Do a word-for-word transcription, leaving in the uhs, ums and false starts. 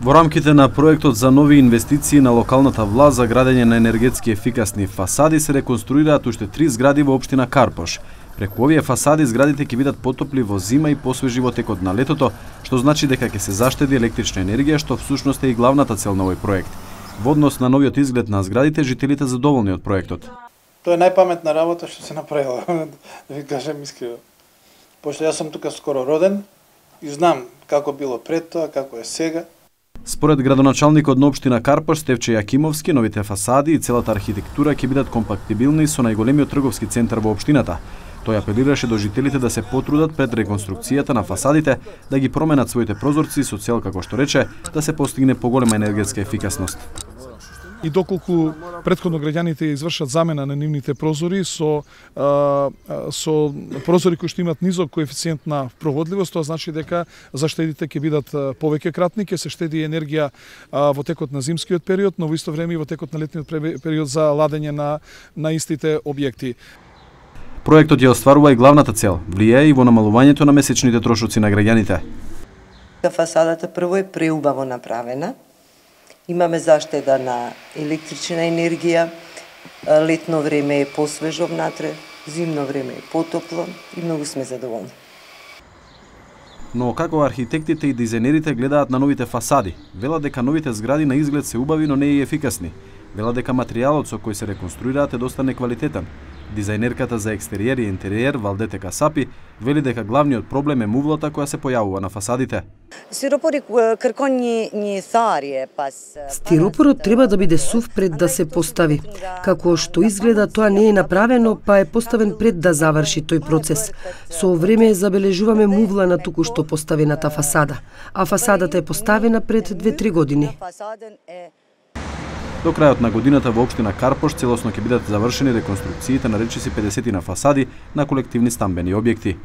Во рамките на проектот за нови инвестиции на локалната власт за градење на енергетски ефикасни фасади се реконструираат уште три згради во општина Карпош. Преку овие фасади зградите ќе бидат потопли во зима и посвежи во текот на летото, што значи дека ќе се заштеди електрична енергија, што всушност е и главната цел на овој проект. Во однос на новиот изглед на зградите, жителите задоволни од проектот. Тоа е најпаметна работа што се направила, да ви кажем искрено. Пошто јас сум тука скоро роден и знам како било пред тоа, како е сега. Според градоначалникот на општина Карпош Стевче Јакимовски, новите фасади и целата архитектура ќе бидат компактибилни со најголемиот трговски центар во општината. Тој апелираше до жителите да се потрудат пред реконструкцијата на фасадите, да ги променат своите прозорци со цел, како што рече, да се постигне поголема енергетска ефикасност. И доколку претходно граѓаните извршат замена на нивните прозори со а, со прозори кои што имаат низок коефициент на проводливост, тоа значи дека заштедите ќе бидат повеќе кратни, ќе се штеди енергија а, во текот на зимскиот период, но во исто време и во текот на летниот период за ладење на на истите објекти. Проектот ја остварува и главната цел, влијае и во намалувањето на месечните трошоци на граѓаните. Фасадата прво е преубаво направена. Имаме заштеда на електрична енергија, летно време е посвежо внатре, зимно време е потопло и многу сме задоволни. Но како архитектите и дизајнерите гледаат на новите фасади? Велат дека новите згради на изглед се убави, но не и ефикасни. Велат дека материјалот со кој се реконструираат е доста неквалитетен. Дизајнерката за екстериер и интериер Валдете Касапи вели дека главниот проблем е мувлата која се појавува на фасадите. Стиропорот треба да биде сув пред да се постави. Како што изгледа, тоа не е направено, па е поставен пред да заврши тој процес. Со време забележуваме мувла на туку што поставената фасада, а фасадата е поставена пред две-три години. До крајот на годината во општина Карпош целосно ќе бидат завршени реконструкциите на речиси педесет фасади на колективни стамбени објекти.